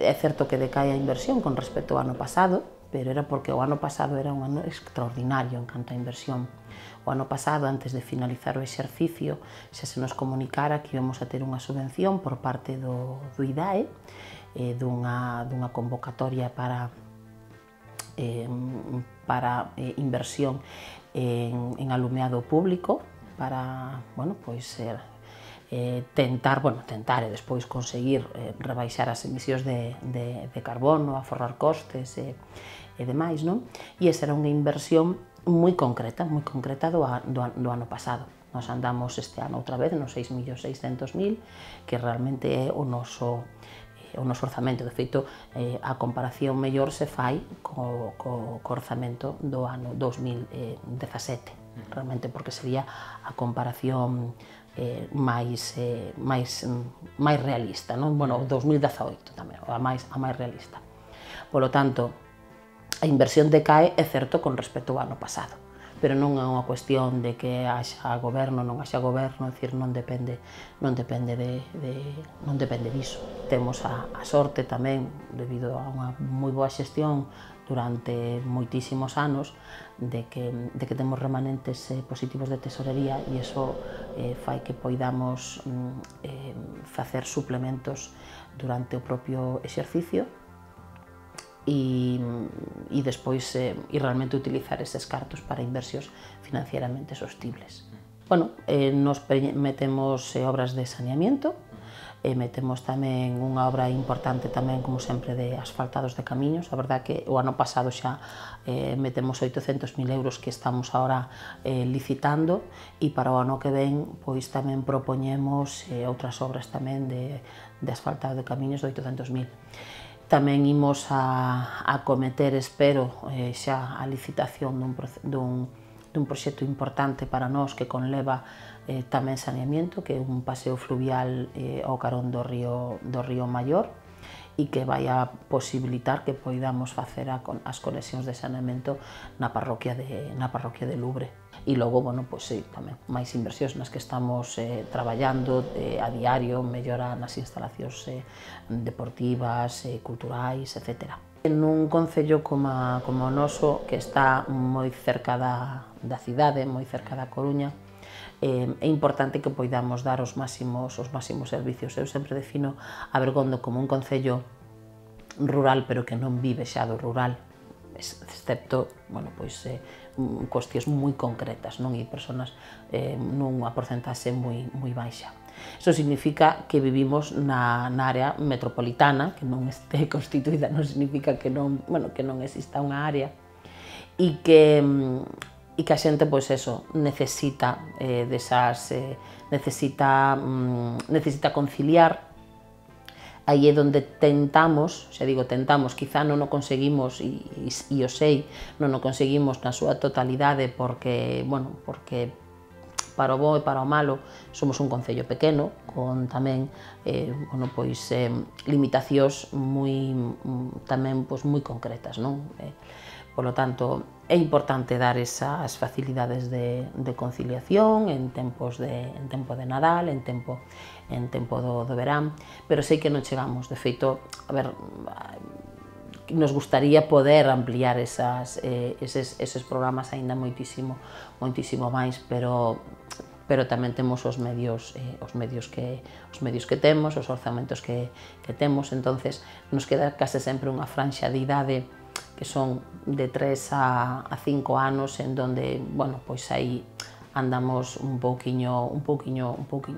É certo que decae a inversión con respecto ao ano pasado, pero era porque o ano pasado era un ano extraordinario en canto a inversión. O ano pasado, antes de finalizar o exercicio, xa se nos comunicara que íbamos a ter unha subvención por parte do IDAE, dunha convocatoria para inversión en alumeado público, para, bueno, pois, tentar e despois conseguir rebaixar as emisións de carbono, aforrar costes e demais, non? E esa era unha inversión moi concreta do ano pasado. Nos andamos este ano outra vez nos 6.600.000, que realmente é o noso orzamento. De feito, a comparación mellor se fai co orzamento do ano 2017, realmente, porque sería a comparación máis realista, non? Bueno, 2018 tamén, a máis realista. Polo tanto, a inversión decae, é certo, con respecto ao ano pasado, pero non é unha cuestión de que haxa goberno, non haxa goberno, é dicir, non depende diso. Temos a sorte tamén, debido a unha moi boa xestión durante moitísimos anos, de que temos remanentes positivos de tesorería, e iso fai que poidamos facer suplementos durante o propio exercicio e despois realmente utilizar eses cartos para inversións financieramente sostibles. Bueno, nos metemos obras de saneamiento, metemos tamén unha obra importante tamén, como sempre, de asfaltados de camiños. A verdad que o ano pasado xa metemos 800.000 euros que estamos agora licitando, e para o ano que ven pois tamén propoñemos outras obras tamén de asfaltado de camiños de 800.000. Tamén imos a acometer, espero, xa a licitación dun proxecto importante para nós que conleva tamén saneamiento, que é un paseo fluvial ao carón do río Maior, e que vai a posibilitar que poidamos facer as conexións de saneamento na parroquia de Lubre. E logo, bueno, pois sí, tamén máis inversións nas que estamos traballando a diario, mellora nas instalacións deportivas, culturais, etc. Nun concello como o noso, que está moi cerca da cidade, moi cerca da Coruña, é importante que poidamos dar os máximos servicios. Eu sempre defino a Bergondo como un concello rural, pero que non vive xa do rural, excepto, bueno, pois, cuestións moi concretas, non? E persoas nunha porcentaxe moi baixa. Iso significa que vivimos na área metropolitana, que non este constituída, non significa que non exista unha área, e que a xente, pois eso, necesita conciliar. Aí é onde tentamos, xa digo tentamos, quizá non o conseguimos, e o sei, non o conseguimos na súa totalidade, porque para o bo e para o malo somos un concello pequeno, con tamén limitacións tamén moi concretas, non? Polo tanto, é importante dar esas facilidades de conciliación en tempo de Nadal, en tempo do verán, pero sei que non chegamos. De feito, a ver, nos gustaría poder ampliar eses programas aínda moitísimo máis, pero tamén temos os medios que temos, os orzamentos que temos. Entonces nos queda case sempre unha franxa de idade que son de 3 a 5 anos, en donde, bueno, pois aí andamos un pouquiño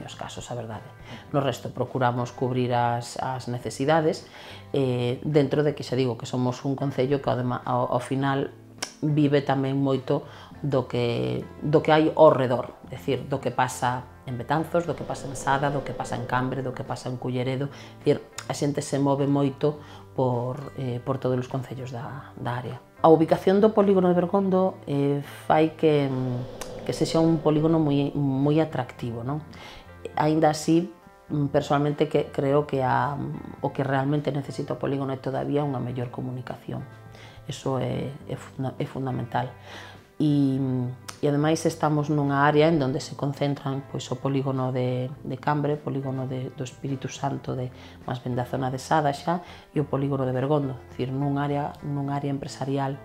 escasos, a verdade. No resto procuramos cubrir as necesidades, dentro de que, xa digo, que somos un concello que ao final vive tamén moito do que hai ao redor, é dicir, do que pasa en Betanzos, do que pasa en Sada, do que pasa en Cambre, do que pasa en Culleredo. É dicir, a xente se move moito por todos os concellos da área. A ubicación do polígono de Bergondo fai que sexa un polígono moi atractivo, non? Aínda así, personalmente creo que o que realmente necesita o polígono é todavía unha mellor comunicación. Iso é fundamental. e ademais estamos nunha área en onde se concentran pois, o polígono de Cambre, o polígono do Espírito Santo, máis ben da zona de Sada xa, e o polígono de Bergondo, dicir, nunha área empresarial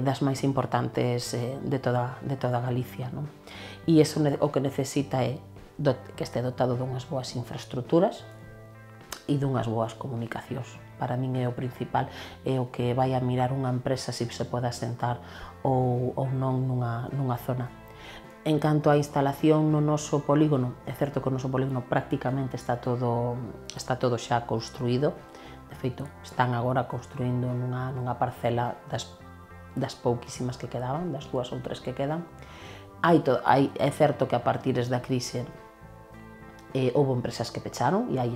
das máis importantes de toda Galicia. Non? E iso o que necesita é que este dotado dunhas boas infraestructuras e dunhas boas comunicacións. Para min é o principal, é o que vai a mirar unha empresa se se pode asentar ou non nunha zona. En canto á instalación no noso polígono, é certo que o noso polígono prácticamente está todo xa construído. De feito, están agora construindo nunha parcela das pouquísimas que quedaban, das 2 ou 3 que quedan. É certo que a partir da crise houve empresas que pecharon e hai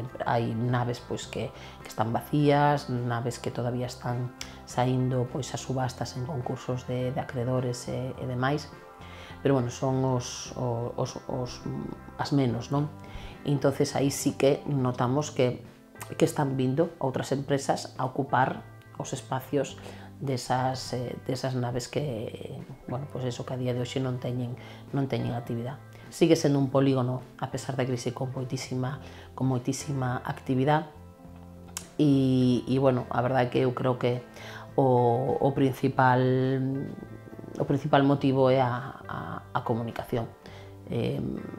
naves pois, que están vacías, naves que todavía están saindo pois, a subastas en concursos de acreedores e demais, pero bueno, son as menos, non? E entonces aí sí que notamos que están vindo outras empresas a ocupar os espacios desas naves que, bueno, pois eso que a día de hoxe non teñen actividade. Sigue sendo un polígono, a pesar da crise, con moitísima actividade e, bueno, a verdade é que eu creo que o principal motivo é a comunicación.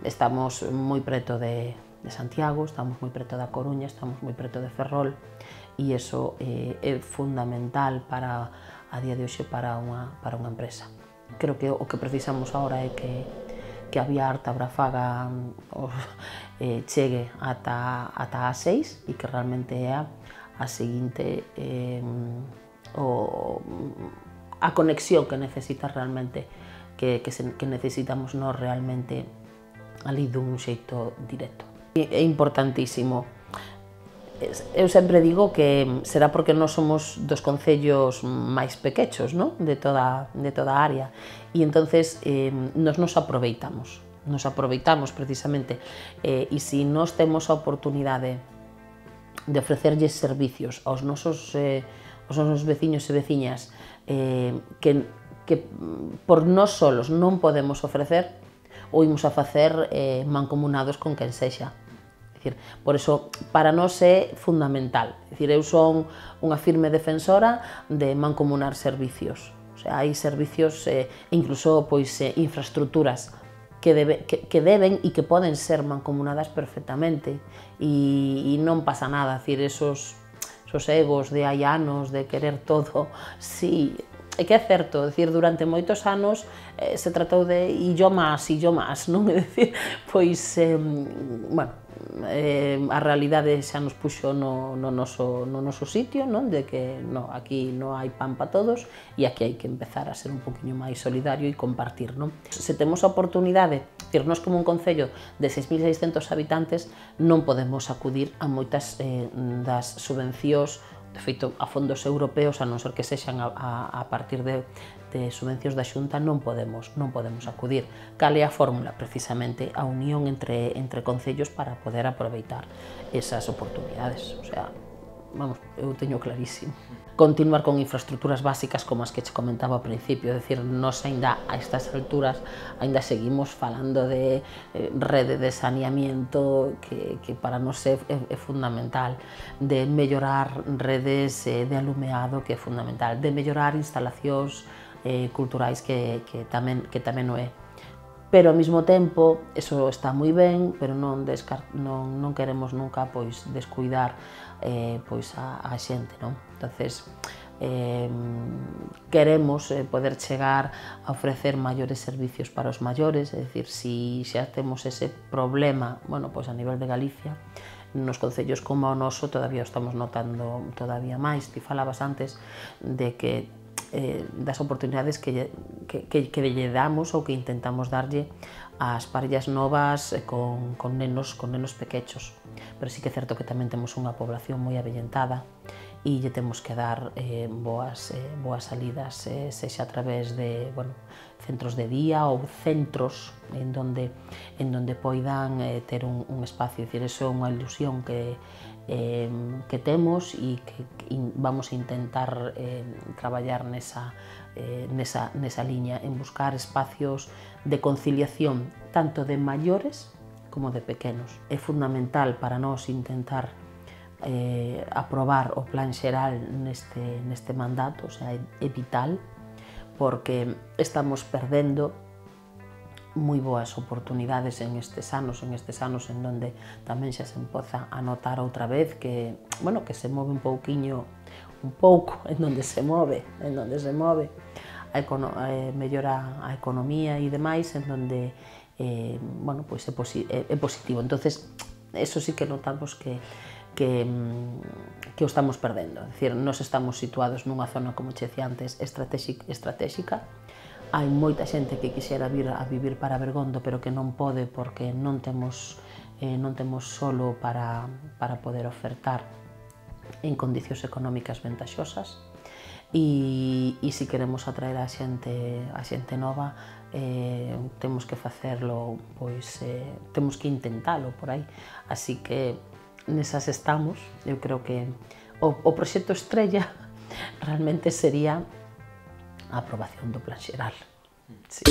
Estamos moi preto de Santiago, estamos moi preto da Coruña, estamos moi preto de Ferrol e iso é fundamental para a día de hoxe para unha empresa. Creo que o que precisamos agora é que a vía Arte-Abrafaga chegue ata a 6 e que realmente é a seguinte a conexión que necesita realmente que necesitamos nós realmente ali dun xeito directo. É importantísimo. Eu sempre digo que será porque nós somos dos concellos máis pequechos, non? de toda a área, e entonces nos aproveitamos precisamente, e se nós temos a oportunidade de ofrecerlles servicios aos nosos veciños e veciñas que por nós solos non podemos ofrecer, ou imos a facer mancomunados con quen sexa. Por iso, para nós é fundamental. Eu son unha firme defensora de mancomunar servicios. Hai servicios e incluso infraestructuras que deben e que poden ser mancomunadas perfectamente e non pasa nada. Esos egos de hai anos, de querer todo, sí, é que é certo, durante moitos anos se tratou de e yo más, non? É dicir, pois, bueno, a realidade xa nos puxo no noso sitio, non? De que aquí non hai pan para todos e aquí hai que empezar a ser un poquinho máis solidario e compartir, non? Se temos a oportunidade, nós como un concello de 6.600 habitantes non podemos acudir a moitas das subvencións, de feito, a fondos europeos, a non ser que sexan a partir de subvencións da Xunta, non podemos acudir. Cal é a fórmula? Precisamente a unión entre concellos para poder aproveitar esas oportunidades. O sea, vamos, eu teño clarísimo. Continuar con infraestructuras básicas como as que che comentaba ao principio, é dicir, nós aínda a estas alturas aínda seguimos falando de rede de saneamiento que para nós é fundamental, de mellorar redes de alumeado que é fundamental, de mellorar instalacións culturais que tamén o é. Pero ao mesmo tempo, eso está moi ben, pero non queremos nunca descuidar a xente, non? Entonces, queremos poder chegar a ofrecer maiores servicios para os maiores, é dicir, se xa temos ese problema, bueno, a nivel de Galicia, nos concellos como o noso todavía o estamos notando todavía máis. Ti falabas antes de que das oportunidades que lle damos ou que intentamos darlle ás parellas novas con nenos pequechos. Pero sí que é certo que tamén temos unha población moi avellentada e lle temos que dar boas salidas, sexa a través de centros de día ou centros en donde poidan ter un espacio. Dicir, eso é unha ilusión que temos e que vamos a intentar traballar nesa liña, en buscar espacios de conciliación tanto de maiores como de pequenos. É fundamental para nós intentar aprobar o plan xeral neste mandato, o sea, é vital, porque estamos perdendo moi boas oportunidades en estes anos en donde tamén xa se empoza a notar outra vez que se move un pouco en donde se move, mellora a economía e demais, en donde é positivo. Entonces, eso sí que notamos que o estamos perdendo. É dicir, nós estamos situados nunha zona, como che decía antes, estratégica. Hai moita xente que quixera vir a vivir para Bergondo, pero que non pode porque non temos solo para poder ofertar en condicións económicas ventaxosas. E se queremos atraer a xente nova, temos que facerlo, temos que intentalo por aí. Así que nesas estamos. Eu creo que o proxecto estrella realmente sería a aprobación do plan xeral. Sí.